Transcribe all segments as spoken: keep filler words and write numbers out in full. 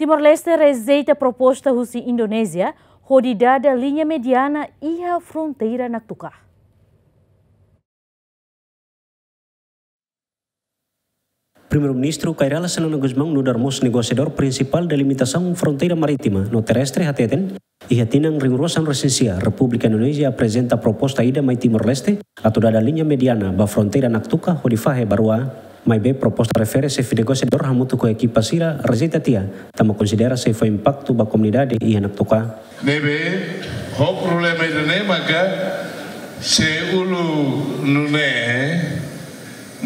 Timor-Leste rejeita proposta husi Indonézia hodi dada liña mediana iha fronteira Naktuka. Primeiru-Ministru Kay Rala Xanana Gusmão nu'udar mós negosiadór prinsipál delimitasaun fronteira marítima no terrestre hateten, iha tinan rihun rua sanulu-resin-sia, Repúblika Indonézia aprezenta proposta ida mai Timor-Leste atu dada liña mediana ba fronteira Naktuka hodi fahe ba rua. Maibé proposta refere xefe negosiadór hamutuk ho ekipa sira rejeita tiha, tanba konsidera sei fó impaktu ba komunidade iha Naktuka. Ne'ebé, ho problema ida-ne'e maka, se uluk nune'e,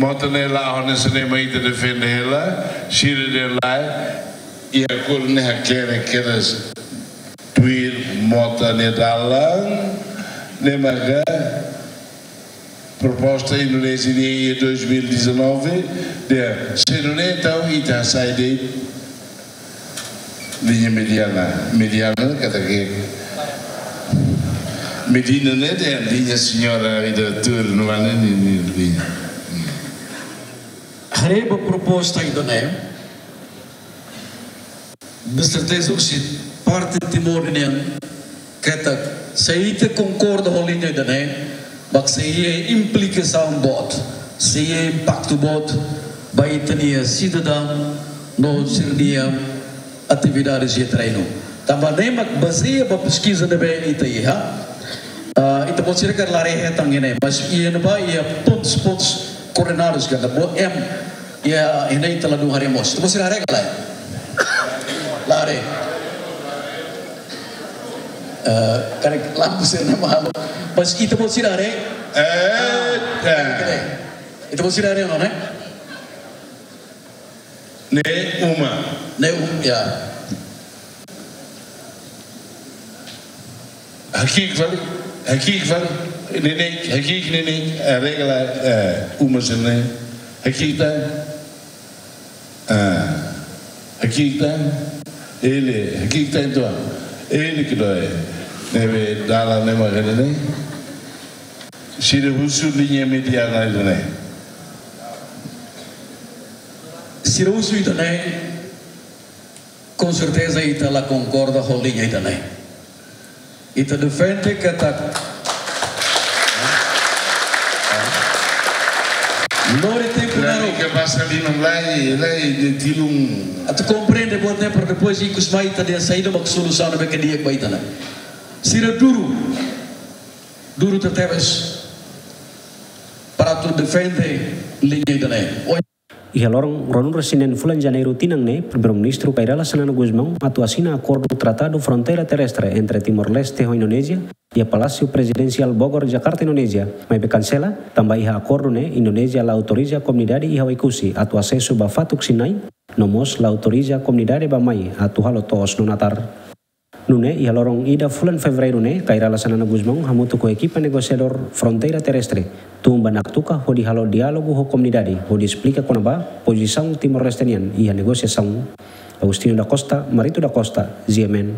mota ne'e la'o hanesan ne'e mak ita defende hela, sira dehan lae, iha kul ne'e hakerek kedas tuir mota nia dalan, ne'e maka proposta Indonézia nian iha dois mil e dezanove, dehan, se nune'e entaun ita hasai de'it liña mediana, mediana katak medina ne'e dehan liña señora ida tuur no mane ni, ni liña. Haree ba proposta ida-ne'e, de serteza husi parte Timor nian, katak se ita konkorda ho liña ida-ne'e, mak sei iha implikasaun boot, sei iha impaktu boot ba ita-nia sidadaun no sira-nia atividades iha terrenu. Tanba ne'e mak bazeia ba peskiza ne'ebé ita iha. Ah, ita-boot sira karik la haree hetan iha ne'e, mas iha ne'ebá iha pontos, pontos coordenados katak boot, em, iha, iha ne'e ita ladún haree mós. Ita-boot sira haree ka lae? La haree. Eh, karik lampu sira-ne'e mak halo. Mas ita-boot sira haree? Eh, ah, ya. Ita-boot sira haree, no, ne'e? Ne'e uma. Ne'e um, ya. Haki'ik fali, haki'ik fali. Neineik, haki'ik neineik, eh, regla, eh, uma sira-ne'e. Haki'ik tan. Ah, haki'ik tan. Ele, haki'ik tan entaun. Ele ke doi. Ne'ebé dalan ne'e mak ne'e. Sira husu liña mediana ida-ne'e. Sira husu ida-ne'e, com certeza ita la konkorda ho liña ida-ne'e. Ita defende katak lori tempu naruk. Ke pasa liman lai, lai de tilun. Atu komprende buat ne'e para depois ikus mai ita dehan saida mak solusaun ne'ebé ke di'ak ba ita ne'e. Sira duru, duru tebetebes para atu defende liña ida-ne'e. Iha loron ruanulu-resin-neen fulan Janeiru tinan ne'e, Primeiru-Ministru Kay Rala Xanana Gusmão atu asina akordu tratadu fronteira terrestre entre Timor-Leste ho Indonézia iha Palásiu Prezidensiál Bogor, Jakarta, Indonézia, maibé kansela, tanba iha akordu ne'e Indonézia la autoriza komunidade iha Oekusi atu asesu ba fatuk Sinai, no mós la autoriza komunidade bá-mai atu halo to'os no natar. Nune'e iha loron ida fulan Fevereiru ne'e, Kay Rala Xanana Gusmão hamutuk ho ekipa negosiadór fronteira terrestre tun ba Naktuka hodi halo diálogu ho komunidade hodi esplika kona-ba pozisaun Timor-Leste nian iha negosiasaun. Agostinho da Costa, Marito da Costa, G M N.